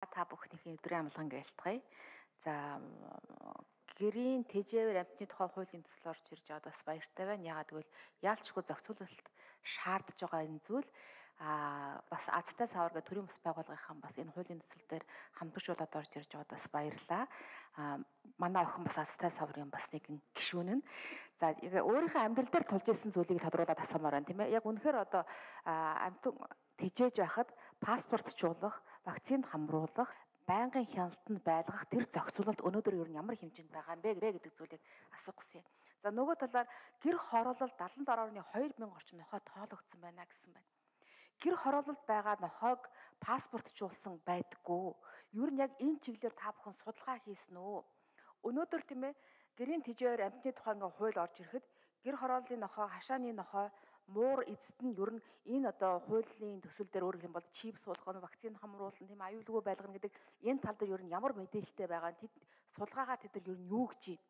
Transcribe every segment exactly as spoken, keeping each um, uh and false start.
Та бүхнийхээ өдрийн амгалан гэлтгая. За гэрийн тэжээвэр амьтны тухай хуулийн төсөл орж ирж байгаад бас баяртай байна. Ягаад гэвэл яалчгүй зохицуулалт шаардж байгаа энэ зүйл а бас азтай савар гэх төрийн бас байгууллагынхан бас энэ хуулийн төсөл дээр хамтгуулаад орж ирж байгаад бас баярлаа. А манай охин бас азтай саврын бас нэгэн гишүүн нь. За яг өөрийнхөө амьдрал дээр тулж ирсэн зүйлийг тодруулаад асуумаар байна тийм ээ. Яг үнэхээр одоо амьтан тэжээж байхад паспортчуулах, вакцинд хамруулах, байнгын хяналтанд байлгах тэр зохицуулалт өнөөдөр ер нь ямар хэмжээнд байгаа юм бэ гэдэг зүйлийг асуух гэсэн юм. За нөгөө талаар гэр хороолол дадлан дорооны хоёр мянга орчим нохой тоологдсон байна гэсэн байна. Гэр хороололд байгаа нохойг паспортчуулсан байдаггүй. Ер нь яг энэ чиглэлээр та бүхэн судалгаа хийсэн үү? Өнөөдөр тийм ээ гэрийн тэжээвэр амьтны тухай ингээ хууль орж ирэхэд гэр хорооллын нохой, хашааны нохой муур эзэд нь ер нь энэ одоо хуулийн төсөл дээр өөрөөр хэлбэл чип суулгах нь, вакцины хамруулна, тийм аюулгүй байлгана гэдэг энэ тал дээр ер нь ямар мэдээлэлтэй байгаа нь тэд судалгаагаа тэд нар ер нь юу гэж байна.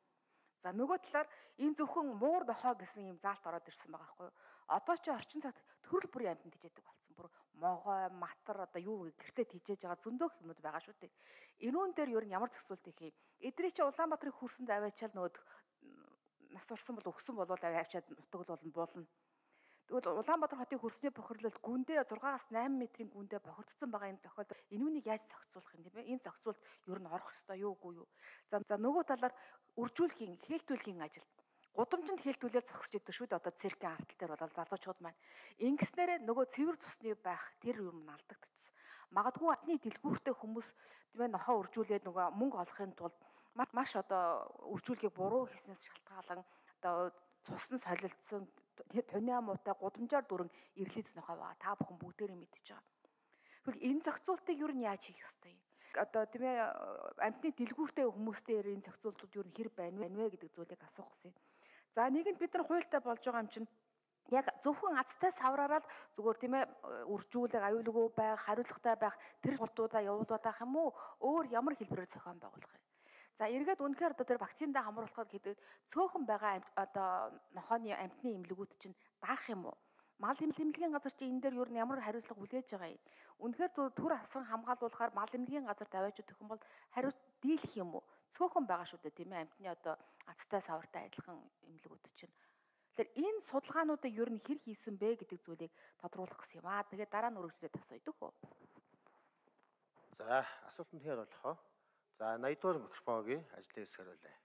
За нөгөө талаар энэ зөвхөн муур нохой гэсэн юм заалт ороод ирсэн байгаа байхгүй юу. Одоо ч орчин цагт төрөл бүрийн амьтанд тижээдэг болсон. Бүр могой, матар одоо юу гэртээ тижээж байгаа зөндөөх юмуд байгаа шүү дээ. Энүүн дээр ер нь ямар зохицуулт их юм. Эдрий чи Улаанбаатарын хөрсөнд аваачаал нөгөө нас урсан бол өгсөн болвол аваачаад нутаг болно болно. Тэгвэл Улаанбаатар хотын хөрсний бохирлолд гүндээ зургаас найман метрийн гүндээ бохирдсон байгаа энэ тохиолдолд энүүнийг яаж зохицуулах юм бэ? Энэ зохицуулт ер нь орох ёстой юу үгүй юу? За за нөгөө талаар үржүүлэхийн, хэлтүүлэхийн ажил. Гудамжинд хэлтүүлээд зогсож идэг шүү дээ. Одоо циркийн артал дээр бол залуучууд маань ингэснээрээ нөгөө цэвэр цусны байх тэр юм алдагдчихсан. Магадгүй атны дэлгүүртэй хүмүүс тийм ээ нохоо үржүүлээд нөгөө мөнгө олохын тулд маш одоо үржүүлгийг буруу хийснээс шалтгаалan одоо цусны солилцсон тониа муутай гудамжаар дүрэн ирлийц нохой байгаа. Та бүхэн бүгдээрээ мэдчихэж байгаа. Тэгвэл энэ зохицуултыг юу нь яаж хийх ёстой юм? Одоо тийм ээ амьтны дэлгүүртэй хүмүүстэй энэ зохицуултууд юу нь хэр байна вэ гэдэг зүйлийг асуух гэсэн. За нэгэнд бид нар хуультай болж байгаа юм чинь яг зөвхөн азтай савраараа л зүгээр тийм ээ үржүүлэг аюулгүй байх, хариуцлагатай байх тэр суртуудаа явуулдаг юм уу? Өөр ямар хэлбэрээр зохион байгуулах юм? За эргээд үнэхээр одоо тэр вакциндаа хамруулах гэдэг цөөхөн байгаа одоо нохооны амьтны эмнэлгүүд чинь даах юм уу? Мал эмнэлгийн газар чи энэ дээр юу н ямар хариуцлага хүлээж байгаа юм? Үнэхээр түр асран хамгаалуулахаар мал эмнэлгийн газар тавиач өгөх юм бол хариуц дийлэх юм уу? Цөөхөн байгаа шүү дээ тийм ээ амьтны одоо азтай савартай адилхан эмнэлгүүд чинь. Тэгэхээр энэ судалгаануудыг юу н хэр хийсэн бэ гэдэг зүйлийг тодруулах гэсэн юм аа. Тэгээд дараа нь өргөжлөлөд асууя дөхөө. За асуултанд хэр болохоо. За наяд дугаар микрофоногийн ажлын хэсэг хариулъя.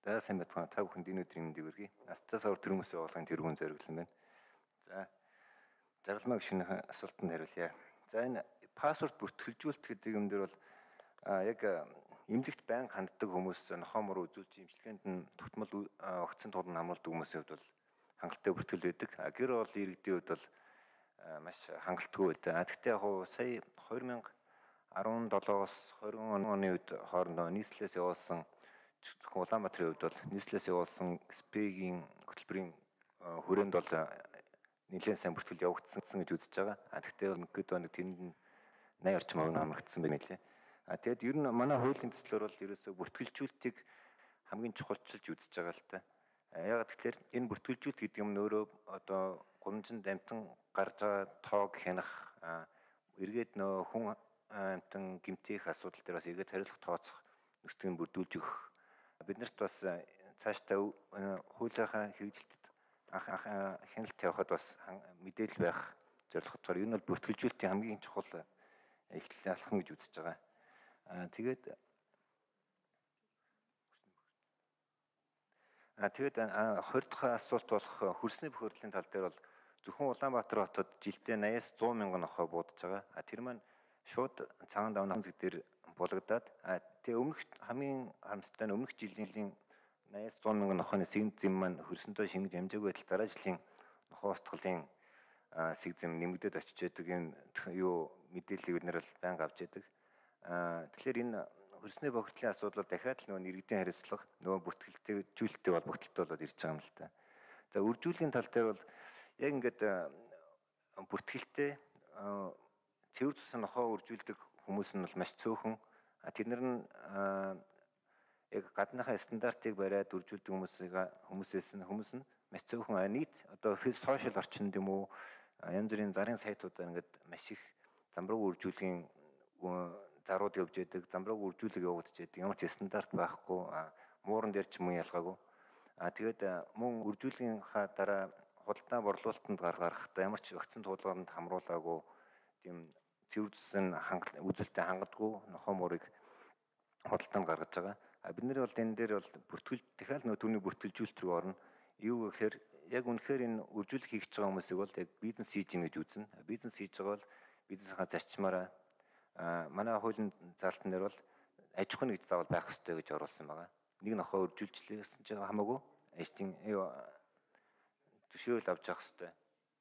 За сайн бацхан та бүхэнд энэ өдрийн мэндийг хүргэе. Азтай савар төрөмөс байгууллагын тэргүүн зориглон байна. За жаргалмаа гишүүнийхэн асуултанд хариулъя. За энэ паспорт бүртгэлжүүлэлт гэдэг юм дээр бол яг эмнэлэгт байнга ханддаг хүмүүс нохоо мөр үзүүлж имчилгээнд нь тогтмол огцон тулд хамруулдаг хүмүүсийн хувьд бол хангалттай бүртгэл байдаг. Гэр оролын иргэдийн хувьд бол маш хангалтгүй байдаг. Гэхдээ яг сая хоёр мянга арван седемоос двадцать оны үед хоорондоо нийслэлээс явуулсан Улаанбаатарын хувьд бол нийслэлээс явуулсан спегийн хөтөлбөрийн хүрээнд бол нэлээд сайн бүртгэл явагдсан гэж үзэж байгаа. Гэхдээ бол нэг хэд нэг тэнд найд орчим овн хамрагдсан байна лээ. А тэгэд ер нь манай хуулийн төслөөр бол ерөөсөө бүртгэлжүүлэлтийг хамгийн чухалчилж үзэж байгаа л та. Яг тэгэхээр энэ бүртгэлжүүлэлт гэдэг юм нь өөрөө одоо гудамжинд амтан гарч байгаа тоог хянах эргээд нөө хүн амтан гэмтэх асуудал дээр бас эргээд хариуцлага тооцох нөхцөлийг бүрдүүлж өгөх. Биднэрт бас цаашдаа хуулийнхаа хэрэгжилтэд хяналт явахад бас мэдээлэл байх зорилготойгоор энэ бол бүртгэлжүүлэлтийн хамгийн чухал эхлэл алхам гэж үзэж байгаа. Тэгээд тэгээд хоёр дахь асуулт болох хөрсний бохирдлын тал дээр бол зөвхөн Улаанбаатар хотод жилдээ восемьдесят сто мянган нохой буудаж байгаа. Тэр маань шууд цагаан давны хэмжиг дээр булагдаад тэгээ өмнөх хамгийн харамсалтай нь өмнөх жилийн восемьдесят сто мянган нохойны сэгэн зэм маань хөрсөндөө шингэж амжаагүй байтал дараа жилийн нохой устгалын сэг зэм нэмэгдээд очиж байдаг энэ юу мэдээллийг бид нэр байнга авч яадаг. Тэгэхээр энэ хөрсний бохирдлын асуудал дахиад л нөгөө иргэдийн хариуцлага нөгөө бүртгэлжүүлэлттэй холбогдлолтой болоод ирж байгаа юм л та. За үржүүлгийн тал дээр бол яг ингээд бүртгэлтэй цэвэр цусан нохоо үржүүлдэг хүмүүс нь бол маш цөөхөн. Тэднэр нь яг гадныхаа стандартыг бариад үржүүлдэг хүмүүсийг хүмүүсээс нь хүмүүс нь маш цөөхөн нийт одоо сошиал орчинд юм уу янз бүрийн зарын сайтуудаар ингээд маш их замбраг үржүүлгийн зарууд явж байдаг, замбраг үржүүлэг явагдаж байдаг. Ямар ч стандарт байхгүй, мууран дээр ч мөн ялгаагүй. А тэгээд мөн үржүүлгийнхаа дараа худалдаа борлуулалтанд гаргахдаа ямар ч вакцин туулгаанд хамруулаагүй тийм цэвэр зүсэн үзүүлэлтэд хангадгүй нохоо муурыг худалдаанд гаргаж байгаа. А бид нар бол энэ дээр бол бүртгэл дахиад нөө түүний бүртгэлжүүлэлт рүү орно. Юу гэхээр яг үнэхээр энэ үржүүлэг хийж байгаа хүмүүсийг бол яг бизнес хийж гин гэж үзнэ. Бизнес хийж байгаа бол бизнесийнхаа зарчмаараа а манай хуулийн залтан дээр бол аж ахуй нэгж заавал байх ёстой гэж оруулсан байгаа. Нэг нохоо үржүүлжлээсэн чинь хамаагүй ажлын төшөөрөл авч явах ёстой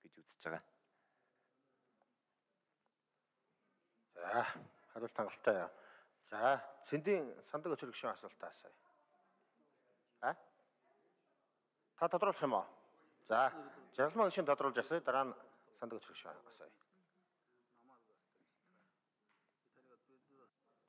гэж үзэж байгаа. За, хариулт хангалттай яа. За, цэндийн сандаг өчрөг гишүүн асуултаа асууя. А? Та тодруулах юм уу? За, жаргалмаа гишүүн тодруулж асууя, дараа нь сандаг өчрөг гишүүн асууя.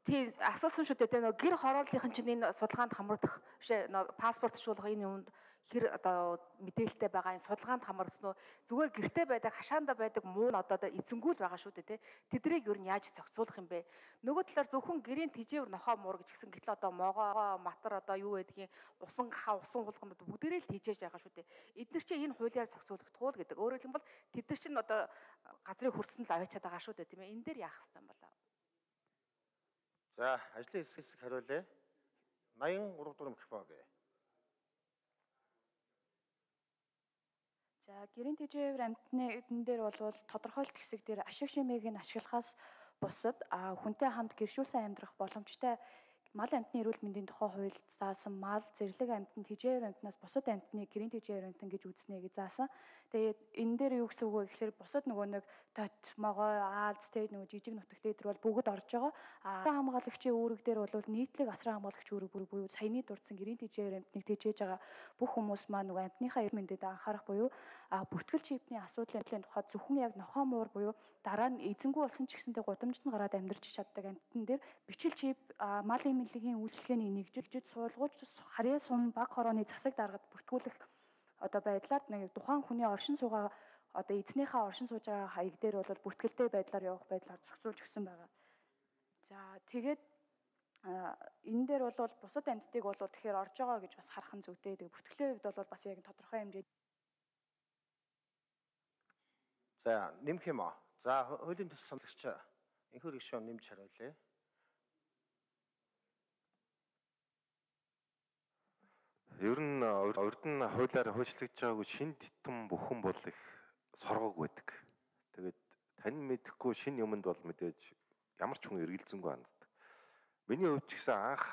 Тий, асуусан шүү дээ. Тэгээ нөгөө гэр хорооллынхан чинь энэ судалгаанд хамрагдах бишээ нөгөө паспортчлуулах энэ юмд хэр одоо мэдээлэлтэй байгаа энэ судалгаанд хамрагдсан уу? Зүгээр гэртээ байдаг, хашаанда байдаг муу нь одоо эзэнгүүл байгаа шүү дээ, тий. Тэдрийг ер нь яаж зохицуулах юм бэ? Нөгөө талаар зөвхөн гэрийн тэжээвэр нохоо муур гэж гисэн гэтэл одоо могоо, матар одоо юу байдгийг усан хаа, усан хулганд бүгдээрээ л тэжээж байгаа шүү дээ. Эдгээр чинь энэ хуулиар зохицуулагдах уу гэдэг. Өөрөөр хэлбэл тэд нар чинь одоо газрыг хүртсэн л аваачаад байгаа шүү дээ, тийм ээ. Энэ дээр яах ёстой юм бол? За, ажлын хэсэг хэсэг хариулъя. найман гурав дугаар микрофон гээ. За, гэрийн тэжээвэр амьтны эдэн дээр бол тодорхойлт хэсэг дээр ашиг шимийг нь ашиглахаас бусад а хүнтэй хамт гэршүүлсэн амьдрах боломжтой мал амьтны эрүүл мэндийн тухай хуульд заасан мал зэрлэг амьтанд тэжээвэр амьтнаас бусад амьтныг гэрийн тэжээвэр амьтан гэж үзнэ гэж заасан. Тэгээд энэ дээр юу гэсэн үг вэ гэхээр бусад нөгөө нэг тот, могой, аалз тэгээд нөгөө жижиг нутагт дээр бол бүгд орж байгаа. А асран хамгаалагчийн үүрэг дээр бол нийтлэг асран хамгаалагч үүрэг буюу саяны дурдсан гэрийн тэжээвэр амьтныг тэжээж байгаа бүх хүмүүс маань нөгөө амьтныхаа эрүүл мэндэд анхаарах буюу а бүртгэл чипний асуудлын тухайд зөвхөн яг нохоо муур буюу дараа нь эзэнгүү болсон ч гэсэнтэй гудамжинд гараад амьдарч чаддаг амьтан дээр бичил чип мал эмнэлгийн үйлчлэгээний нэгжиж суулгууч харьяа сум баг хорооны засаг даргад бүртгүүлэх одоо байдлаар нэг тухайн хүний оршин суугаа одоо эзнийхээ оршин сууж байгаа хаяг дээр бол бүртгэлтэй байдлаар явах байдлаар зохицуулж өгсөн байгаа. За тэгээд энэ дээр бол бусад амьтдыг бол тэгэхээр орж байгаа гэж бас харах нь зүйтэй. Тэгээд бүртгэлийн хувьд бол бас яг тодорхой хэмжээд. За, нэмэх юм аа. За, хуулийн төс санагч энэхүү гишүүн нэмж хариулъя. Ер нь урд нь хуулиар хуульчлагдж байгаагүй шин титэн бүхэн бол их соргоог байдаг. Тэгээд тань мэдэхгүй шин юмд бол мэдээж ямар ч хүн эргэлзэнгүй ханддаг. Миний хувьд ч гэсэн анх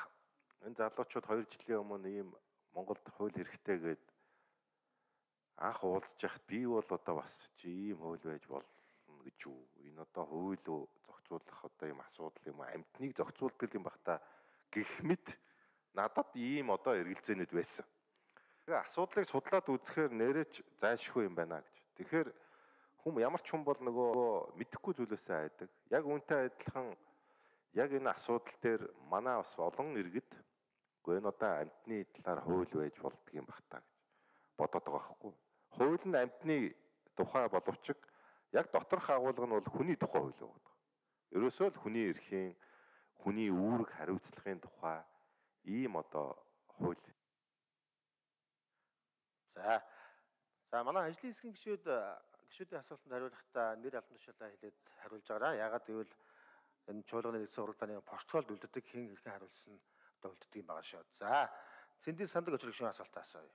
энэ залуучууд хоёр жилийн өмнө ийм Монголд хууль хэрэгтэй гээд анх уулзж яхад би бол одоо бас чи ийм хууль байж болно гэж юу. Энэ одоо хууль зохицуулах одоо ийм асуудал юм аа. Амьтныг зохицуулдаг юм бах та гэх мэт надад ийм одоо эргэлзээнүүд байсан. Тэгээ асуудлыг судлаад үзэхээр нэрэж зайлшгүй юм байна гэж. Тэгэхээр хүм ямар ч хүн бол нөгөө мэдэхгүй зүйлээсээ айдаг. Яг үүнтэй адилхан яг энэ асуудал дээр манай бас олон иргэд үгүй энэ одоо амьтны талаар хууль байж болдго юм бах та гэж бодоод байгаа байхгүй. Хууль нь амьтны тухай боловч яг доторх агуулга нь бол хүний тухай хууль байгаа. Ерөөсөө л хүний эрхийн, хүний үүрэг хариуцлагын тухай ийм одоо хууль. За. За манай ажлын хэсгийн гишүүд гишүүдийн асуултанд хариулахдаа нэр албан тушаалаа хэлээд хариулж байгаараа. Ягаад гэвэл энэ чуулганы нэгдсэн уралдааны протоколд үлддэг хэн хэрхэн хариулсан одоо үлддэг юм байгаа шүү. За, цэндийн сандаг өчрөг гишүүн асуултаа асууя.